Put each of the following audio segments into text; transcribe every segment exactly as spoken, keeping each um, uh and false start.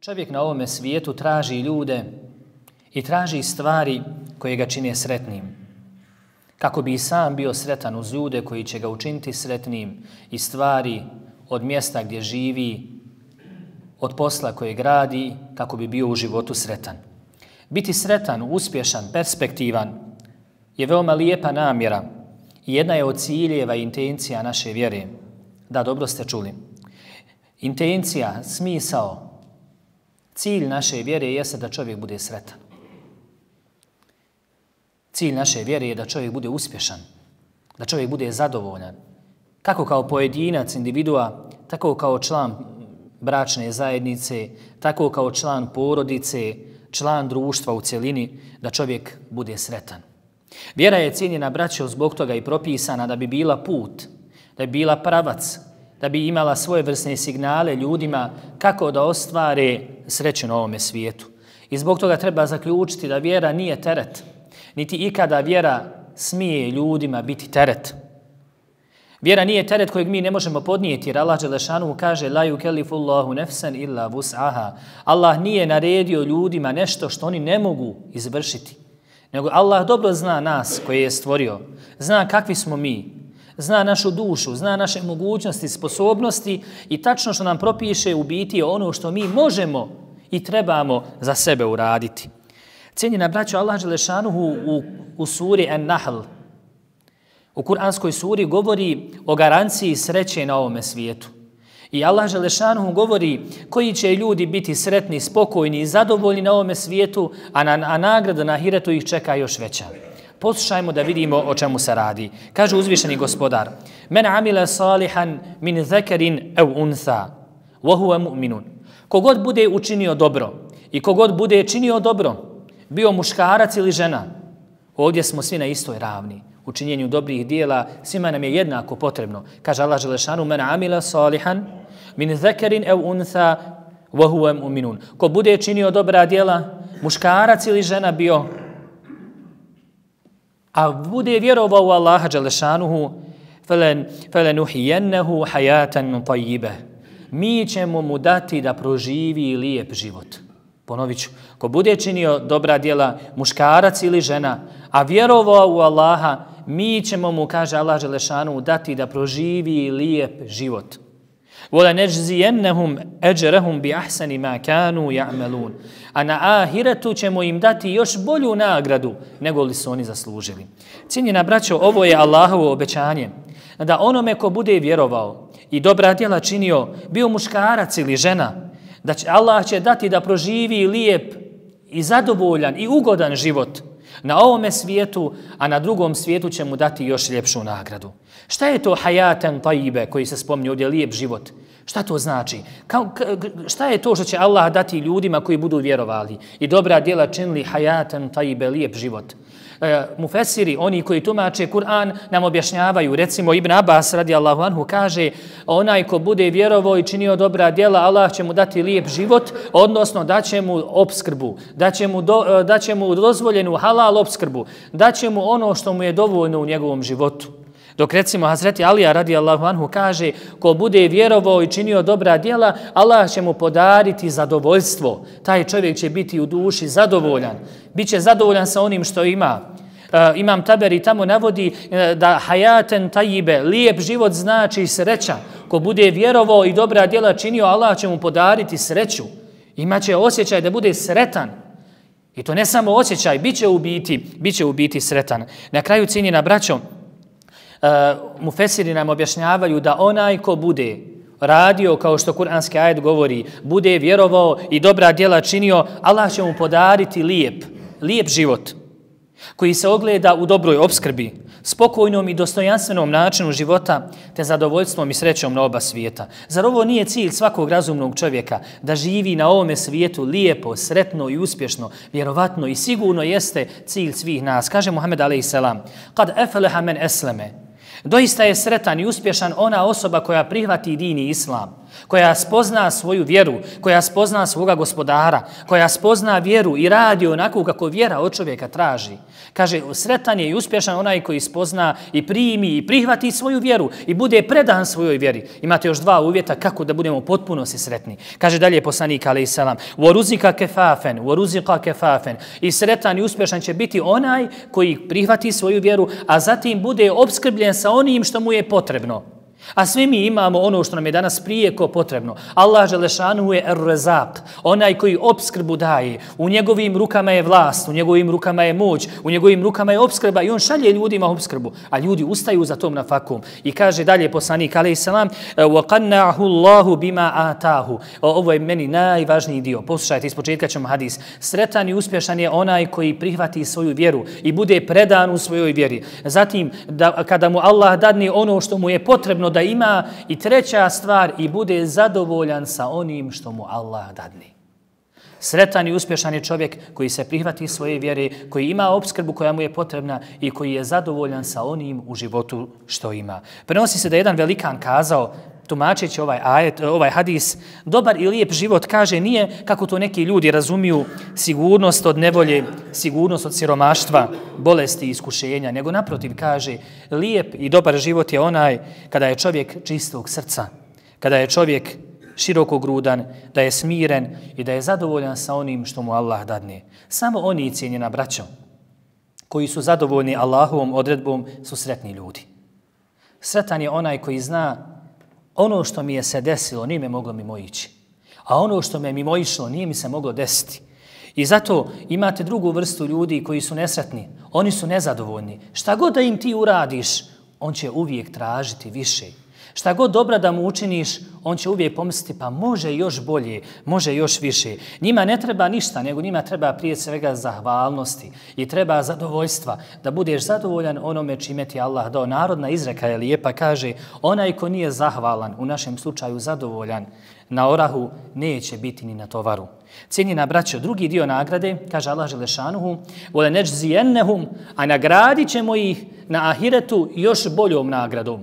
Čovjek na ovome svijetu traži ljude i traži stvari koje ga čine sretnim. Kako bi i sam bio sretan uz ljude koji će ga učiniti sretnim i stvari od mjesta gdje živi, od posla koje gradi, kako bi bio u životu sretan. Biti sretan, uspješan, perspektivan je veoma lijepa namjera i jedna je od ciljeva i intencija naše vjere. Da, dobro ste čuli. Intencija, smisao, cilj naše vjere jeste da čovjek bude sretan. Cilj naše vjere je da čovjek bude uspješan, da čovjek bude zadovoljan. Kako kao pojedinac, individua, tako kao član bračne zajednice, tako kao član porodice, član društva u cjelini, da čovjek bude sretan. Vjera je cijenjena, braćo, zbog toga i propisana da bi bila put, da bi bila pravac, da bi imala svoje vrsne signale ljudima kako da ostvare sreću na ovome svijetu. I zbog toga treba zaključiti da vjera nije teret, niti ikada vjera smije ljudima biti teret. Vjera nije teret kojeg mi ne možemo podnijeti, jer Allah dželešanu kaže la yukellifullahu nefsan illa vus'aha. Allah nije naredio ljudima nešto što oni ne mogu izvršiti. Nego Allah dobro zna nas koje je stvorio, zna kakvi smo mi, zna našu dušu, zna naše mogućnosti, sposobnosti i tačno što nam propiše u biti ono što mi možemo i trebamo za sebe uraditi. Cijenjena braćo, Allah dželešanuhu u, u suri An-Nahl, u kuranskoj suri, govori o garanciji sreće na ovome svijetu. I Allah dželešanuhu govori koji će ljudi biti sretni, spokojni i zadovoljni na ovome svijetu, a, na, a nagrada na ahiretu ih čeka još veća. Poslušajmo da vidimo o čemu se radi. Kaže uzvišeni gospodar: Men amila salihan min zakarin aw untha wa huwa mu'minun. Kogod bude učinio dobro i kogod bude činio dobro, bio muškarac ili žena, ovdje smo svi na istoj ravni. U činjenju dobrih dijela svima nam je jednako potrebno. Kaže Allah dželešanu: Men amila salihan min zakarin aw untha wa huwa mu'minun. Ko bude činio dobra djela, muškarac ili žena bio, a bude vjerovao u Allaha dželešanuhu, felenuhijennehu hajatan tajjibe. Mi ćemo mu dati da proživi lijep život. Ponovit ću, ko bude činio dobra djela, muškarac ili žena, a vjerovao u Allaha, mi ćemo mu, kaže Allah dželešanuhu, dati da proživi lijep život. وَلَنَجْزِيَنَّهُمْ أَجْرَهُمْ بِأَحْسَنِ مَا كَانُوا يَعْمَلُونَ. A na ahiretu ćemo im dati još bolju nagradu nego li su oni zaslužili. Cijenjena braćo, ovo je Allahovo obećanje da onome ko bude vjerovao i dobra djela činio, bio muškarac ili žena, da će Allah će dati da proživi lijep i zadovoljan i ugodan život na ovome svijetu, a na drugom svijetu će mu dati još ljepšu nagradu. Šta je to hajaten tajjibe koji se spominje ovdje, lijep život? Šta to znači? Ka, ka, šta je to što će Allah dati ljudima koji budu vjerovali i dobra djela činili hajaten tajjibe, lijep život? E, mufesiri, oni koji tumače Kur'an, nam objašnjavaju. Recimo Ibn Abbas radijallahu anhu kaže: onaj ko bude vjerovao i činio dobra djela, Allah će mu dati lijep život, odnosno daće mu opskrbu, daće mu, do, daće mu dozvoljenu halal opskrbu, daće mu ono što mu je dovoljno u njegovom životu. Dok recimo Hazreti Alija radijallahu anhu kaže: ko bude vjerovao i činio dobra djela, Allah će mu podariti zadovoljstvo. Taj čovjek će biti u duši zadovoljan. Biće zadovoljan sa onim što ima. Uh, Imam Taberi tamo navodi uh, da hajaten tajjibe, lijep život znači sreća. Ko bude vjerovao i dobra djela činio, Allah će mu podariti sreću. Imaće osjećaj da bude sretan. I to ne samo osjećaj, bit će u biti, bit će u biti sretan. Na kraju, cijenjena braćo, Uh, mufesiri nam objašnjavaju da onaj ko bude radio, kao što kuranski ajet govori, bude vjerovao i dobra djela činio, Allah će mu podariti lijep, lijep život koji se ogleda u dobroj opskrbi, spokojnom i dostojanstvenom načinu života, te zadovoljstvom i srećom na oba svijeta. Zar ovo nije cilj svakog razumnog čovjeka, da živi na ovome svijetu lijepo, sretno i uspješno? Vjerovatno i sigurno jeste cilj svih nas. Kaže Muhammed alejselam: kad efeleha men esleme. Doista je sretan i uspješan ona osoba koja prihvati din i islam. koja spozna svoju vjeru, koja spozna svoga gospodara, koja spozna vjeru i radi onako kako vjera od čovjeka traži. Kaže, sretan je i uspješan onaj koji spozna i primi i prihvati svoju vjeru i bude predan svojoj vjeri. Imate još dva uvjeta kako da budemo potpuno sretni. Kaže dalje poslanik alejhi selam: "Waruzika kefafen, waruzika kefafen." I sretan i uspješan će biti onaj koji prihvati svoju vjeru, a zatim bude opskrbljen sa onim što mu je potrebno. A svi mi imamo ono što nam je danas prijeko potrebno. Allah Želešanu je Er-Rezak, onaj koji opskrbu daje. U njegovim rukama je vlast, u njegovim rukama je moć, u njegovim rukama je opskrba i on šalje ljudima opskrbu. A ljudi ustaju za tom nafakom. I kaže dalje poslanik alejhi selam: "Wa Allahu bima atahu." Ovo je meni najvažniji dio. Poslušajte, ispočetka ćemo hadis. Sretan i uspješan je onaj koji prihvati svoju vjeru i bude predan u svojoj vjeri. Zatim, da, kada mu Allah dadne ono što mu je potrebno da ima, i treća stvar, i bude zadovoljan sa onim što mu Allah dadne. Sretan i uspješan je čovjek koji se prihvati svoje vjere, koji ima opskrbu koja mu je potrebna i koji je zadovoljan sa onim u životu što ima. Prenosi se da jedan velikan kazao, tumačeći ovaj ajet, ovaj hadis: dobar i lijep život, kaže, nije kako to neki ljudi razumiju, sigurnost od nevolje, sigurnost od siromaštva, bolesti i iskušenja, nego naprotiv, kaže, lijep i dobar život je onaj kada je čovjek čistog srca, kada je čovjek širokogrudan, da je smiren i da je zadovoljan sa onim što mu Allah dadne. Samo oni, cijenjena braćo, koji su zadovoljni Allahovom odredbom, su sretni ljudi. Sretan je onaj koji zna: ono što mi je se desilo nije me moglo mimo ići, a ono što me mimo išlo nije mi se moglo desiti. I zato imate drugu vrstu ljudi koji su nesretni, oni su nezadovoljni. Šta god da im ti uradiš, on će uvijek tražiti više. Šta god dobra da mu učiniš, on će uvijek pomisliti: pa može još bolje, može još više. Njima ne treba ništa, nego njima treba prije svega zahvalnosti i treba zadovoljstva, da budeš zadovoljan onome čime ti Allah dao. Narodna izreka je lijepa, kaže: onaj ko nije zahvalan, u našem slučaju zadovoljan, na orahu neće biti ni na tovaru. Cijenjena braćo, drugi dio nagrade, kaže Allah Želešanuhu: وَلَنَجْزِيَنَّهُمْ, a nagradit ćemo ih na ahiretu još boljom nagradom.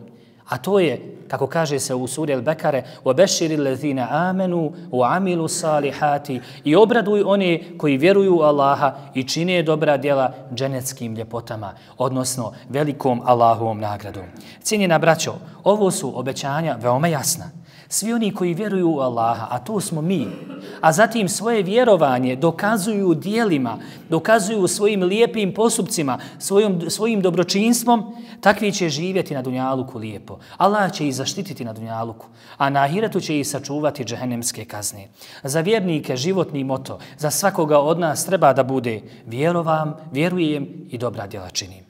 A to je, kako kaže se u suri Al-Bekare: وَبَشِّرِ الَّذِينَ آمَنُوا وَعَمِلُوا الصَّالِحَاتِ, i obraduj one koji vjeruju u Allaha i čine dobra djela dženeckim ljepotama, odnosno velikom Allahovom nagradom. Cijenjena braćo, ovo su obećanja veoma jasna. Svi oni koji vjeruju u Allaha, a to smo mi, a zatim svoje vjerovanje dokazuju djelima, dokazuju svojim lijepim postupcima, svojim, svojim dobročinstvom, takvi će živjeti na dunjaluku lijepo. Allah će ih zaštititi na dunjaluku, a na ahiretu će ih sačuvati džehennemske kazne. Za vjernike životni moto, za svakoga od nas treba da bude: vjerovam, vjerujem i dobra djela činim.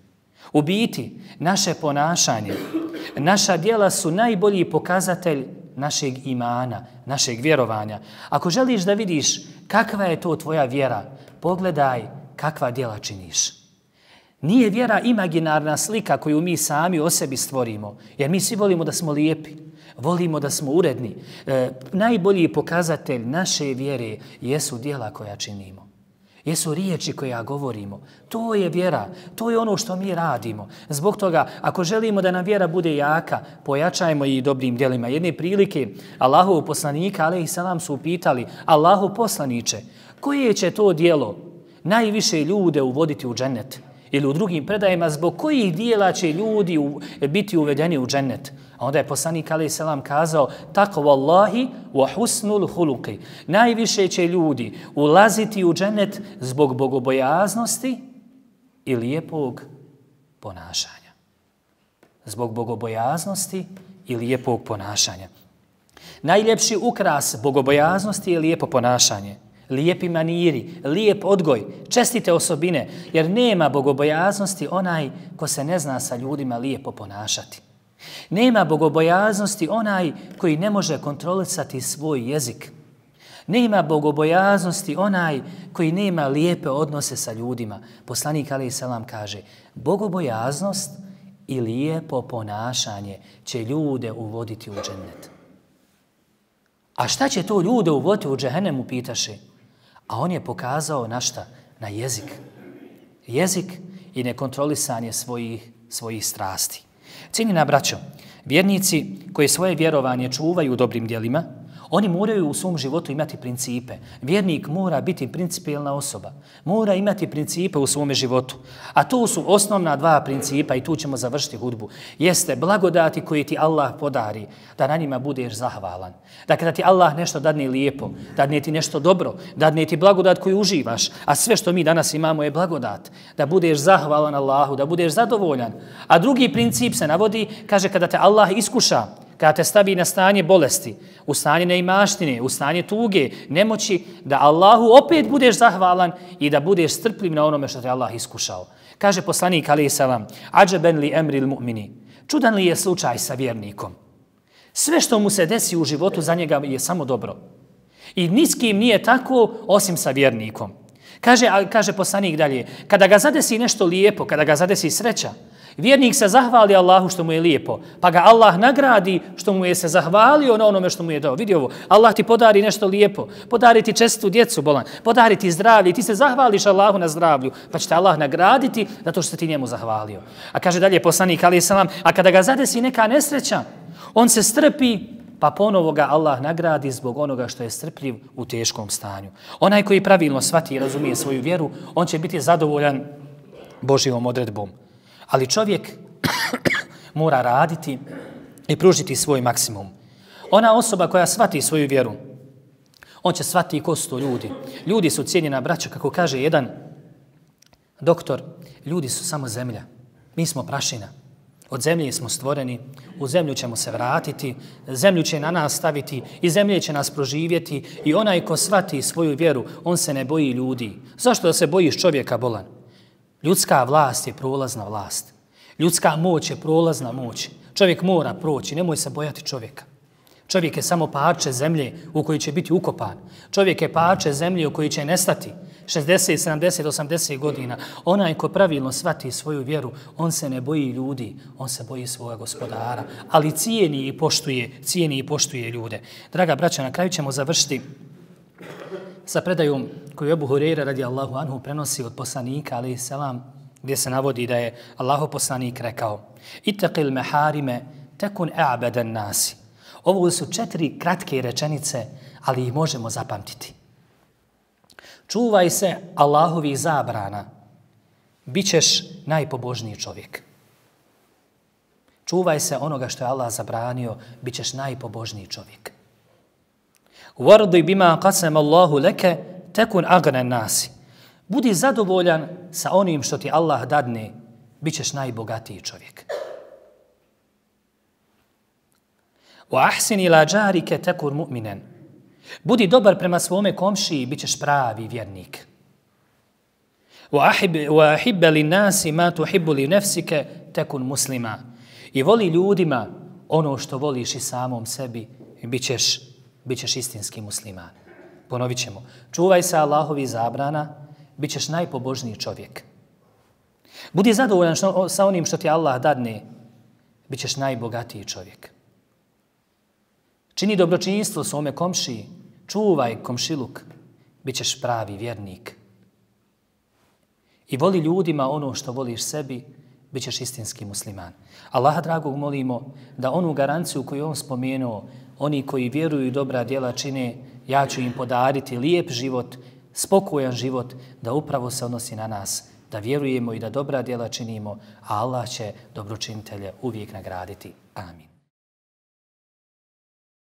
U biti, naše ponašanje, naša djela su najbolji pokazatelj našeg imana, našeg vjerovanja. Ako želiš da vidiš kakva je to tvoja vjera, pogledaj kakva djela činiš. Nije vjera imaginarna slika koju mi sami o sebi stvorimo, jer mi svi volimo da smo lijepi, volimo da smo uredni. E, najbolji pokazatelj naše vjere jesu djela koja činimo. Jesu riječi koje govorimo. To je vjera, to je ono što mi radimo. Zbog toga, ako želimo da nam vjera bude jaka, pojačajmo i dobrim djelima. Jedne prilike Allahov poslanika alejhi selam su upitali: Allahov poslaniče, koje će to djelo najviše ljude uvoditi u džennet? Ili u drugim predajima, zbog kojih dijela će ljudi u, biti uvedeni u džennet? A onda je poslanik alejhi selam kazao: takvallahi wa husnul huluqi. Najviše će ljudi ulaziti u džennet zbog bogobojaznosti i lijepog ponašanja. Zbog bogobojaznosti i lijepog ponašanja. Najljepši ukras bogobojaznosti je lijepo ponašanje. Lijepi maniri, lijep odgoj, čestite osobine, jer nema bogobojaznosti onaj ko se ne zna sa ljudima lijepo ponašati. Nema bogobojaznosti onaj koji ne može kontrolisati svoj jezik. Nema bogobojaznosti onaj koji nema lijepe odnose sa ljudima. Poslanik alejhi selam kaže: bogobojaznost i lijepo ponašanje će ljude uvoditi u džennet. A šta će to ljude uvoditi u džehennemu, pitaše? A on je pokazao na šta? Na jezik. Jezik i nekontrolisanje svojih, svojih strasti. Cijenjena braćo, Vjernici koji svoje vjerovanje čuvaju dobrim djelima, oni moraju u svom životu imati principe. Vjernik mora biti principijelna osoba. Mora imati principe u svome životu. A to su osnovna dva principa i tu ćemo završiti hudbu. Jeste blagodati koje ti Allah podari, da na njima budeš zahvalan. Da kada ti Allah nešto dadne lijepo, dadne ti nešto dobro, dadne ti blagodat koju uživaš, a sve što mi danas imamo je blagodat. Da budeš zahvalan Allahu, da budeš zadovoljan. A drugi princip se navodi, kaže kada te Allah iskuša, kada te stavi na stanje bolesti, u stanje neimaštine, u stanje tuge, nemoći, da Allahu opet budeš zahvalan i da budeš strpljiv na onome što te Allah iskušao. Kaže poslanik alejhi selam: "Ađeben li emril mu'mini." Čudan li je slučaj sa vjernikom? Sve što mu se desi u životu za njega je samo dobro. I ni s kim nije tako osim sa vjernikom. Kaže, kaže poslanik dalje, kada ga zadesi nešto lijepo, kada ga zadesi sreća, vjernik se zahvali Allahu što mu je lijepo, pa ga Allah nagradi što mu je se zahvalio na onome što mu je dao. Vidi ovo, Allah ti podari nešto lijepo, podari ti čestitu djecu bolan, podari ti zdravlje, ti se zahvališ Allahu na zdravlju, pa će te Allah nagraditi zato što se ti njemu zahvalio. A kaže dalje poslanik alejhi selam, a kada ga zadesi neka nesreća, on se strpi, pa ponovo ga Allah nagradi zbog onoga što je strpljiv u teškom stanju. Onaj koji pravilno shvati i razumije svoju vjeru, on će biti zadovoljan Božjom odredbom. Ali čovjek mora raditi i pružiti svoj maksimum. Ona osoba koja shvati svoju vjeru, on će shvati ko su to ljudi. Ljudi su cijenjena braća, kako kaže jedan doktor, ljudi su samo zemlja. Mi smo prašina. Od zemlje smo stvoreni, u zemlju ćemo se vratiti, zemlju će na nas staviti i zemlje će nas proživjeti i onaj ko shvati svoju vjeru, on se ne boji ljudi. Zašto da se bojiš čovjeka bolan? Ljudska vlast je prolazna vlast. Ljudska moć je prolazna moć. Čovjek mora proći, nemoj se bojati čovjeka. Čovjek je samo parče zemlje u kojoj će biti ukopan. Čovjek je parče zemlje u kojoj će nestati šezdeset, sedamdeset, osamdeset godina. Onaj ko pravilno shvati svoju vjeru, on se ne boji ljudi, on se boji svoga gospodara, ali cijeni i poštuje, cijeni i poštuje ljude. Draga braća, na kraju ćemo završiti sa predajom koju Ebu Hurajra radijallahu anhu prenosi od poslanika alejhi selam, gdje se navodi da je Allahov poslanik rekao: "Ittaqil maharime takun a'badan nasi." Ovo su četiri kratke rečenice, ali ih možemo zapamtiti. Čuvaj se Allahovih zabrana, bit ćeš najpobožniji čovjek. Čuvaj se onoga što je Allah zabranio, bit ćeš najpobožniji čovjek. Wardi bima qasama Allahu laka takun aghna nasi. Budi zadovoljan sa onim što ti Allah dadne, bit ćeš najbogatiji čovjek. Wa ahsin ila jarika takun mu'minan. Budi dobar prema svome komšiji, bit ćeš pravi vjernik. Wa ahibba lin nasi ma tuhibbu li nafsika takun muslima. I voli ljudima ono što voliš i samom sebi, bit ćeš, bit ćeš istinski musliman. Ponovit ćemo. Čuvaj se Allahovi zabrana, bit ćeš najpobožniji čovjek. Budi zadovoljan što, sa onim što ti Allah dadne, bit ćeš najbogatiji čovjek. Čini dobročinjstvo svome komšiji, čuvaj komšiluk, bit ćeš pravi vjernik. I voli ljudima ono što voliš sebi, bit ćeš istinski musliman. Allaha dragog molimo da onu garanciju koju on spomenuo, oni koji vjeruju i dobra djela čine, ja ću im podariti lijep život, spokojan život, da upravo se odnosi na nas, da vjerujemo i da dobra djela činimo, a Allah će dobročinitelje uvijek nagraditi. Amin.